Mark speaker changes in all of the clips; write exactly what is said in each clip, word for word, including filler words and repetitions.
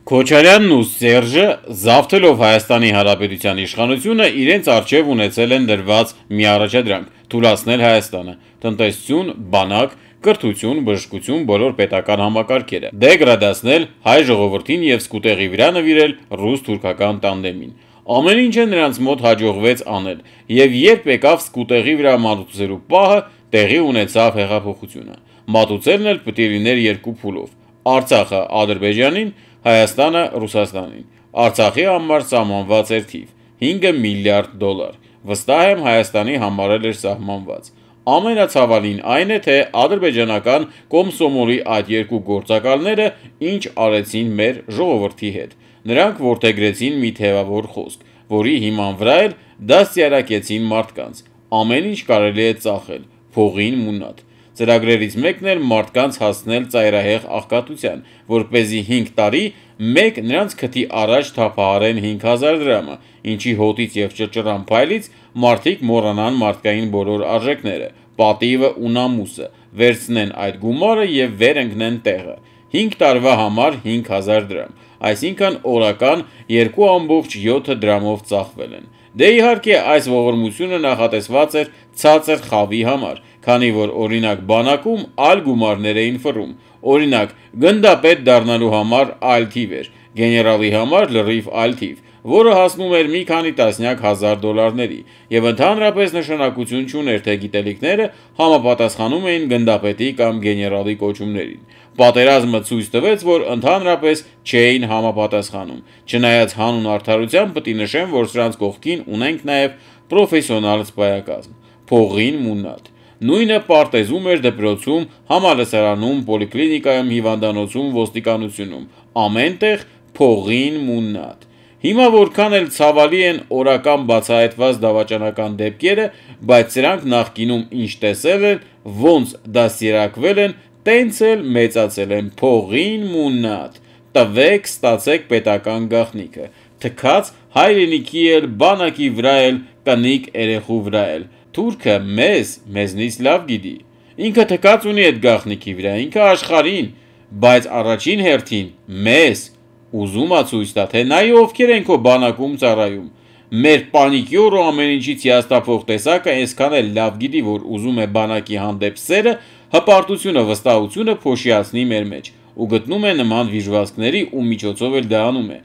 Speaker 1: Քոչարյանն ու Սերժը, զավթելով Հայաստանի Հանրապետության իշխանությունը, իրենց առջև ունեցել են դրված մի առաջադրանք՝ թուլացնել Հայաստանը, տնտեսություն, բանակ, կրթություն, բժշկություն, բոլոր պետական համակարգերը, դեգրադացնել հայ ժողովրդին և սկուտեղի վրա նվիրել ռուս-թուրքական տանդեմին։ Ամեն ինչը նրանց մոտ հաջողվեց անել, և երբ եկավ սկուտեղի վրա մատուցելու պահը, տեղի ունեցավ հեղափոխությունը։ Մատուցելն էլ պիտի լիներ երկու փուլով՝ Արցախը Ադրբեջանին, Հայաստանը Ռուսաստանին։ Արցախի համար սահմանված էր թիվ՝ հինգ միլիարդ դոլար, վստահ եմ Հայաստանի համար էլ էր սահմանված։ Ամենացավալին այն է, թե ադրբեջանական կոմսոմոլի այդ երկու գործակալները ինչ արեցին մեր ժողովրդի հետ։ Նրանք որդեգրեցին մի թևավոր խոսք, որի հիման վրա էլ դաստիարակեցին մարդկանց։ Ամեն ինչ կարելի է ծախել, փողին մունատ։ Ծրագրերից մեկն էր մարդկանց հասցնել ծայրահեղ աղքատության, որպեսզի հինգ տարի մեկ նրանց քթի առաջ թափահարեն հինգ հազար դրամը, ինչի հոտից և ճռճռան փայլից մարդիկ մոռանան մարդկային բոլոր արժեքները, պատիվը ու նամուսը, վերցնեն այդ գումարը և վեր ընկնեն տեղը։ Հինգ տարվա համար հինգ հազար դրամ, այսինքն օրական երկու ամբողջ յոթ դրամով ծախվել են։ Դե իհարկե այս ողորմությունը նախատեսված էր ցածր խավի համար, քանի որ օրինակ բանակում այլ գումարներ էին ֆռում, օրինակ գնդապետ դառնալու համար այլ թիվ էր, գեներալի համար լրիվ այլ թիվ, որը հասնում էր մի քանի տասնյակ հազար դոլարների, և ընդհանրապես նշանակություն չուներ, թե գիտելիքները համապատասխանում էին գնդապետի կամ գեներալի կոչումներին։ Պատերազմը ցույց տվեց, որ ընդհանրապես չէին համապատասխանում, չնայած հանուն արդարության պիտի նշեմ, որ սրանց կողքին ունենք նաև պրոֆեսիոնալ սպայակազմ։ Փողին մունատ։ Նույնը պարտեզում էր դպրոցում, համալսարանում, պոլիկլինիկայում, հիվանդանոցում, ոստիկանությունում, ամեն տեղ փողին մունատ։ Հիմա որքան էլ ցավալի են օրական բացահայտված դավաճանական դեպքերը, բայց սրանք նախկինում ինչ տեսել են, ոնց դաստիարակվել են, տենց էլ մեծացել են, փողին մունատ։ Տվեք, ստացեք պետական գաղտնիքը, թքած հայրենիքի էլ, բանակի վրա էլ, կնիկ երեխու վրա էլ։ Թուրքը մեզ, մեզնից լավ գիտի։ Ինքը թքած ունի այդ գաղտնիքի վրա, ինքը աշխարհին, բայց առաջին հերթին մեզ։ Ուզում ա ցույց տա, թե նայ ովքեր են քո բանակում ծառայում։ Մեր պանիկյոր ու ամեն ինչից հիասթափող տեսակը այսքան էլ լավ գիտի, որ ուզում է բանակի հանդեպ սերը, հպարտությունը, վստահությունը փոշիացնի մեր մեջ, ու գտնում է նման վիժվածքների ու միջոցով էլ դա անում է։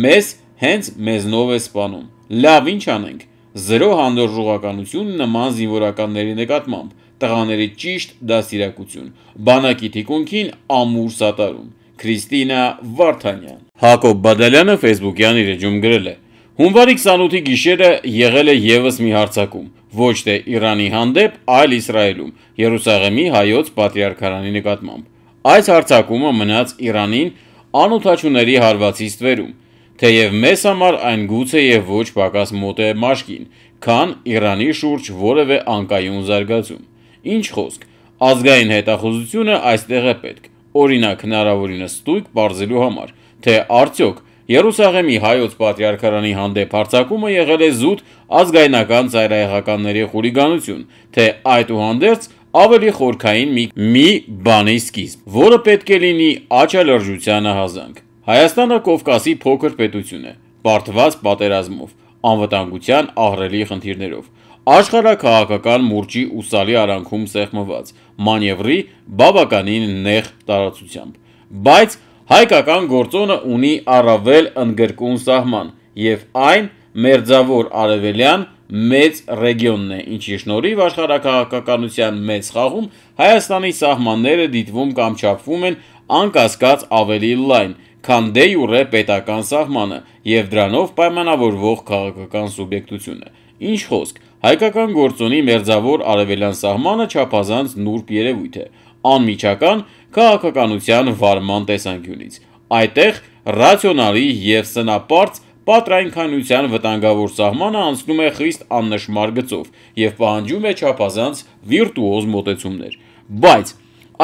Speaker 1: Մեզ հենց մեզնով է սպանում։ Լավ, ինչ անենք։ Զրո հանդուրժողականություն նման զինվորականների նկատմամբ, տղաների ճիշտ դաստիարակություն, բանակի թիկունքին ամուր սատարում։ Քրիստինա Վարդանյան։ Հակոբ Բադալյանը ֆեյսբուքյան իր էջում գրել է. Հունվարի քսանութի գիշերը եղել է ևս մի հարձակում, ոչ թե Իրանի հանդեպ, այլ Իսրայելում, Երուսաղեմի հայոց պատրիարքարանի նկատմամբ։ Այս հարձակումը մնաց Իրանին անօդաչուների հարվածից ստվերում, թեև մեզ համար այն գուցե և ոչ պակաս մոտ է մաշկին, քան Իրանի շուրջ որևէ անկայուն զարգացում։ Ինչ խոսք, ազգային հետախուզությունը այստեղ է պետք, օրինակ հնարավորինս ստույգ պարզելու համար, թե արդյոք Երուսաղեմի հայոց պատրիարքարանի հանդեպ հարձակումը եղել է զուտ ազգայնական ծայրահեղականների խուլիգանություն, թե այդուհանդերձ ավելի խորքային մի, մի բանի սկիզբ, որը պետք է լինի աչալրջությանը հազանգ։ Հայաստանը Կովկասի փոքր պետություն է, բարդված պատերազմով, անվտանգության ահռելի խնդիրներով, աշխարհաքաղաքական մուրճի ու սալի արանքում սեղմված, մանևրի բավականին նեղ տարածությամբ։ Բայց հայկական գործոնը ունի առավել ընդգրկուն սահման, և այն մերձավոր արևելյան մեծ ռեգիոնն է, ինչի շնորհիվ աշխարհաքաղաքականության մեծ խաղում Հայաստանի սահմանները դիտվում կամ չափվում են անկասկած ավելի լայն, քան դե յուրե պետական սահմանը և դրանով պայմանավորվող քաղաքական սուբյեկտությունը։ Ինչ խոսք, հայկական գործոնի մերձավոր արևելյան սահմանը չափազանց նուրբ երևույթ է, անմիջական քաղաքականության վարման տեսանկյունից։ Այդտեղ ռացիոնալի և սնապարծ պատրանքայնության վտանգավոր սահմանը անցնում է խիստ աննշմար գծով և պահանջում է չափազանց վիրտուոզ մոտեցումներ։ Բայց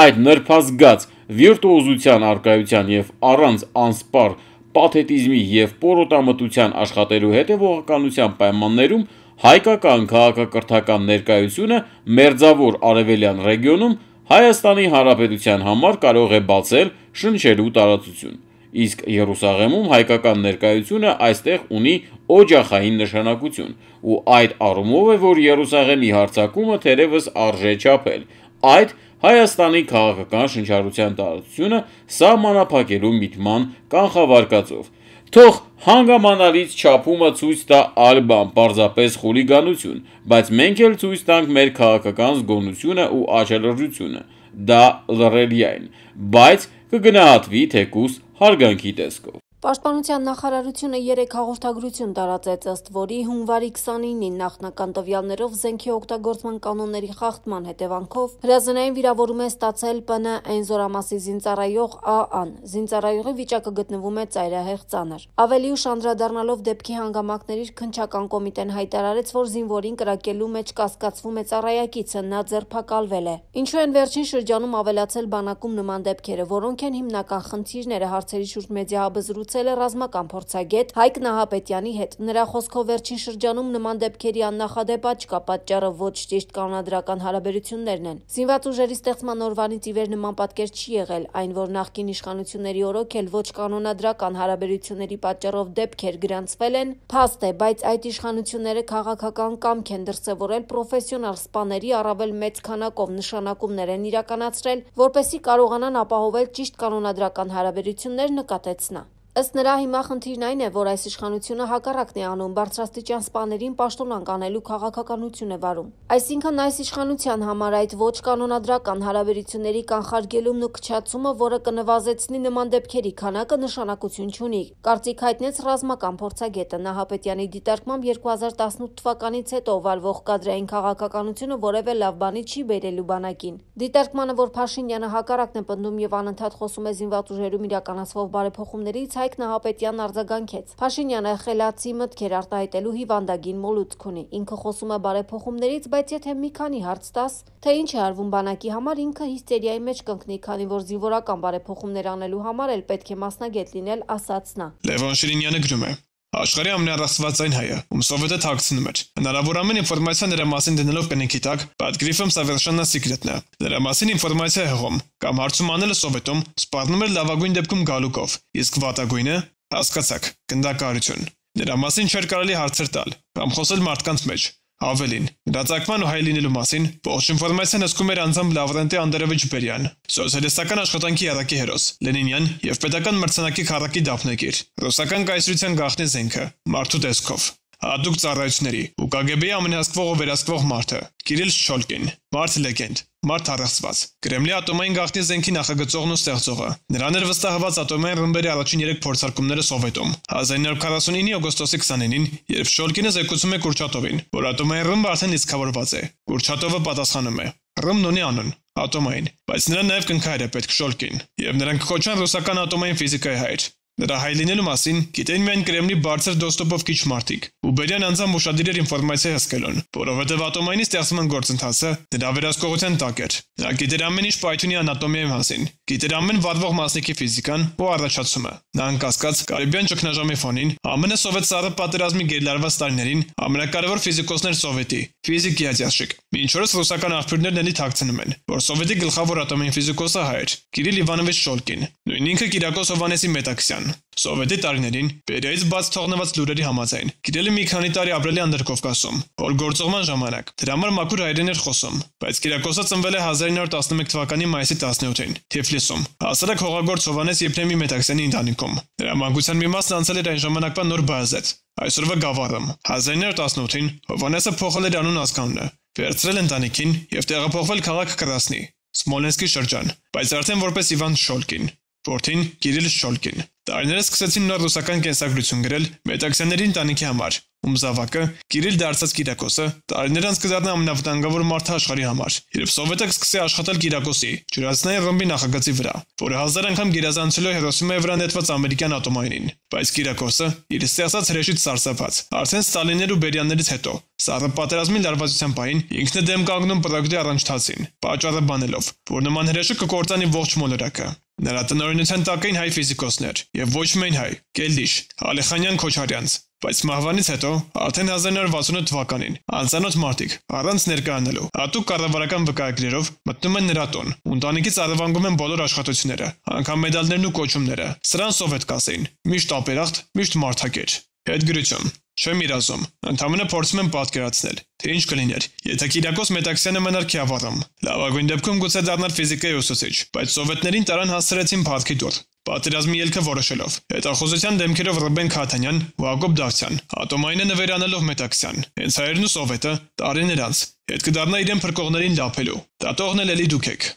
Speaker 1: այդ նրբազգաց վիրտուոզության առկայության և առանց անսպառ պաթետիզմի և պորոտամտության աշխատելու հետևողականության պայմաններում հայկական քաղաքակրթական ներկայությունը մերձավոր արևելյան ռեգիոնում Հայաստանի Հանրապետության համար կարող է բացել շնչելու տարածություն։ իսկ Երուսաղեմում հայկական ներկայությունը այստեղ ունի օջախային նշանակություն, ու այդ առումով է, որ Երուսաղեմի հարձակումը թերևս արժե չափել այդ Հայաստանի քաղաքական շնչառության տարածությունը սահմանափակելու միտման կանխավարկածով։ Թող հանգամանալից չափումը ցույց տա այլ բան, պարզապես խուլիգանություն, բայց մենք էլ ցույց տանք մեր քաղաքական զգոնությունը ու աչալրջությունը, դա լռելիային, բայց կգնահատվի թեկուզ հարգանքի տեսքով։
Speaker 2: Պաշտպանության նախարարությունը երեք հաղորդագրություն տարածեց, ըստ որի հունվարի քսանինին նախնական տվյալներով զենքի օգտագործման կանոնների խախտման հետևանքով հրազենային վիրավորում է ստացել Պ Ն Այն զորամասի զինծառայող Ա Ան։ Զինծառայողի վիճակը գտնվում է ծայրահեղ ծանր։ Ավելի ուշ անդրադառնալով դեպքի հանգամանքների քննչական կոմիտեն հայտարարեց, որ զինվորին կրակելու մեջ կասկածվում է ծառայակիցը, նա ձերբակալվել է։ Ինչու են վերջին շրջանում ավելացել բանակում նման դեպքերը, որոնք են հիմնական խնդիրները, հարցերի շուրջ մեդիահաբզրույց ռազմական փորձագետ Հայկ Նահապետյանի հետ։ Նրա խոսքով վերջին շրջանում նման դեպքերի աննախադեպ աճ կա, պատճառը ոչ ճիշտ կանոնադրական հարաբերություններն են։ Զինված ուժերի ստեղծման օրվանից ի վեր նման պատկեր չի եղել, այն որ նախկին իշխանությունների օրոք էլ ոչ կանոնադրական հարաբերությունների պատճառով դեպքեր գրանցվել են, փաստ է, բայց այդ իշխանությունները քաղաքական կամք են դրսևորել պրոֆեսիոնալ սպաների առավել մեծ քանակով նշանակումներ են իրականացրել, որպեսզի կարողանան ապահովել ճիշտ կանոնադրական հարաբերություններ, նկատեց նա։ Ըստ նրա, հիմա խնդիրն այն է, որ այս իշխանությունը հակառակն է անում, բարձրաստիճան սպաներին պաշտոնանկ անելու քաղաքականություն է վարում։ Այսինքն այս իշխանության համար այդ ոչ կանոնադրական հարաբերությունների կանխարգելումն ու քչացումը, որը կնվազեցնի նման դեպքերի քանակը, նշանակություն չունի, կարծիք հայտնեց ռազմական փորձագետը։ Նահապետյանի դիտարկմամբ երկու հազար տասնութ թվականից հետո վարվող կադրային քաղաքականությունը որևէ լավ բանի չի բերելու բանակին։ Դիտարկմանը, որ Փաշինյանը հակառակն է պնդում եւ անընդհատ խոսում է զինված ուժերում իրականացվող բարեփոխումներից, Հայկ Նահապետյանն արձագանքեց։ Փաշինյանը խելացի մտքեր արտահայտելու հիվանդագին մոլուցք ունի։ Ինքը խոսում է բարեփոխումներից, բայց եթե մի քանի հարց տաս, թե ինչ է արվում բանակի համար, ինքը հիստերիայի մեջ կընկնի, քանի որ զինվորական բարեփոխումներ անելու համար էլ պետք է մասնագետ լինել, ասաց նա։
Speaker 3: Լևոն Շիրինյանը գրում է. Աշխարհի ամենառասվածային հայը, ում Սովետը թաքցնում էր։ Հնարավոր ամեն ինֆորմացիա նրա մասին դնելով կնքի տակ, под грифом совершенно секретно։ Նրա մասին ինֆորմացիա հղում կամ հարցում անելը Սովետում սպառնում էր լավագույն դեպքում գալուկով, իսկ վատագույնը, հասկացաք, գնդակահարություն։ Նրա մասին չէր կարելի հարցեր տալ կամ խոսել մարդկանց մեջ։ Ավելին, նրա ցակման ու հայ լինելու մասին ողջ ինֆորմացիան հսկում էր անձամբ Լավրենտի Անդրեևիչ Բերյան, սոցիալիստական աշխատանքի երակի հերոս, Լենինյան եւ պետական մրցանակի քառակի դափնեկիր, ռուսական կայսրության գաղտնի զենքը, մարդու տեսքով, հատուկ ծառայությունների ու Կ Գ B-ի ամենահսկվող ու վերահսկվող մարդը, Կիրիլ Շչոլկին, մարդ լեգենդ, մարդ առեղծված, Կրեմլի ատոմային գաղտնի զենքի նախագծողն ու ստեղծողը։ Նրան էր վստահված ատոմային ռմբերի առաջին երեք փորձարկումները Սովետում։ հազար ինը հարյուր քառասունինի օգոստոսի քսաներկուին, երբ Շոլկինը զեկուցում է Կուրչատովին, որ ատոմային ռումբը արդեն իսկավորված է, Կուրչատովը պատասխանում է. Ռումբն ունի անուն, ատոմային, բայց նրան նաև կնքահայր է պետք Շոլկին, եւ նրանք կոչան ռուսական ատոմային ֆիզիկայի հայր։ Նրա հայ լինելու մասին գիտեն միայն Կրեմլի բարձր դոստոպով քիչ մարդիկ, ու Բերյան անձամբ ուշադիր էր ինֆորմացիա հսկելուն, որովհետև ատոմայինի ստեղծման գործընթացը նրա վերահսկողության տակ էր։ Նա գիտեր ամեն ինչ պայթյունի անատոմիայի մասին, գիտեր ամեն վառվող մասնիկի ֆիզիկան ու առաջացումը։ Նա անկասկած Կարիբյան ճգնաժամի ֆոնին ԱՄՆ Սովետ սառը պատերազմի գերլարված տարիներին ամենակարևոր ֆիզիկոսներ Սովետի, ֆիզիկի յազյաշիկ։ Մինչ օրս ռուսական աղբյուրներն էլի թաքցնում են, որ Սովետի գլխավոր ատոմային ֆիզիկոսը հայ էր, Կիրիլ Իվանովիչ Շոլկին, նույն ինքը Կիրակոս Հովհաննեսի Մետաքսյան։ Սովետի տարիներին Բերիայից բաց թողնված լուրերի համաձայն Կիրիլը մի քանի տարի ապրել է Անդրկովկասում, որ գործողման ժամանակ դրա համար մաքուր հայերեն էր խոսում, բայց Կիրակոսը ծնվել է հազար ինը հարյուր տասնմեկ թվականի մայիսի տասնյոթին Թիֆլիսում, հասարակ հողագործ Հովհաննես Եփրեմի Մետաքսյանի ընտանիքում։ Նրա մանկության մի մասն անցել էր այն ժամանակվա Նոր Բայազետ, այսօրվա Գավառում։ հազար ինը հարյուր տասնութին Հովհաննեսը փոխել էր անուն ազգանունը, վերցրել ընտանիքին եւ տեղափոխվել քաղաք Կրասնի, Սմոլենսկի շրջան, բայց արդեն որպես Իվան Շոլկին, որդին Կիրիլ Շոլկին։ Տարիները սկսեցին նոր ռուսական կենսագրություն գրել Մետաքսյանների ընտանիքի համար, ում զավակը Կիրիլ դարձած Կիրակոսը տարիներ անց կդառնա ամենավտանգավոր մարդը աշխարհի համար, երբ Սովետը սկսի աշխատել Կիրակոսի ջրածնային ռումբի նախագծի վրա, որը հազար անգամ գերազանցել է Հիրոսիմայի վրա նետված ամերիկյան ատոմայինին, բայց Կիրակոսը իր ստեղծած հրեշից սարսափած, արդեն Ստալիններ ու Բերյաններից հետո սառը պատերազմի լարվածության պահին ինքն է դեմ կանգնում պրոյեկտի առանջթացին, պատճառը բանելով, որ նման հրեշը կկործանի ողջ մոլորակը։ Նրա տնօրինության տակ էին հայ ֆիզիկոսներ, եւ ոչ միայն հայ՝ Կելդիշ, Ալեխանյան Քոչարյանց, Բայց մահվանից հետո, արդեն հազար նոր վաթսունութ թվականին, անծանոթ մարդիկ, առանց ներկայանալու, հատուկ կառավարական վկայակներով մտնում են նրա տուն, ու ընտանիքից առևանգում են բոլոր աշխատությունները, անգամ մեդալներն ու կոչումները։ Սրան սովետ կասեին, միշտ ապերախտ, միշտ մարդակեր։ Հետգրություն։ Չեմ իրազում, ընդամենը փորձում եմ պատկերացնել, թե ինչ կլիներ, եթե Կիրակոս Մետաքսյանը մնար Քյավառում։ Լավագույն դեպքում գուցե դառնար ֆիզիկայի ուսուցիչ, բայց սովետներին տարան հասցրեցին փառքի դուռ։ Պատերազմի ելքը որոշելով, հետախուզության դեմքերով Ռուբեն Քաթանյան ու Հակոբ Դավթյան, ատոմայինը նվերանալով Մետաքսյան, հենց հայերն ու սովետը տարիներ անց հետ կդառնա իրեն փրկողներին լափելու։ Դատողն էլ էլի դուք եք։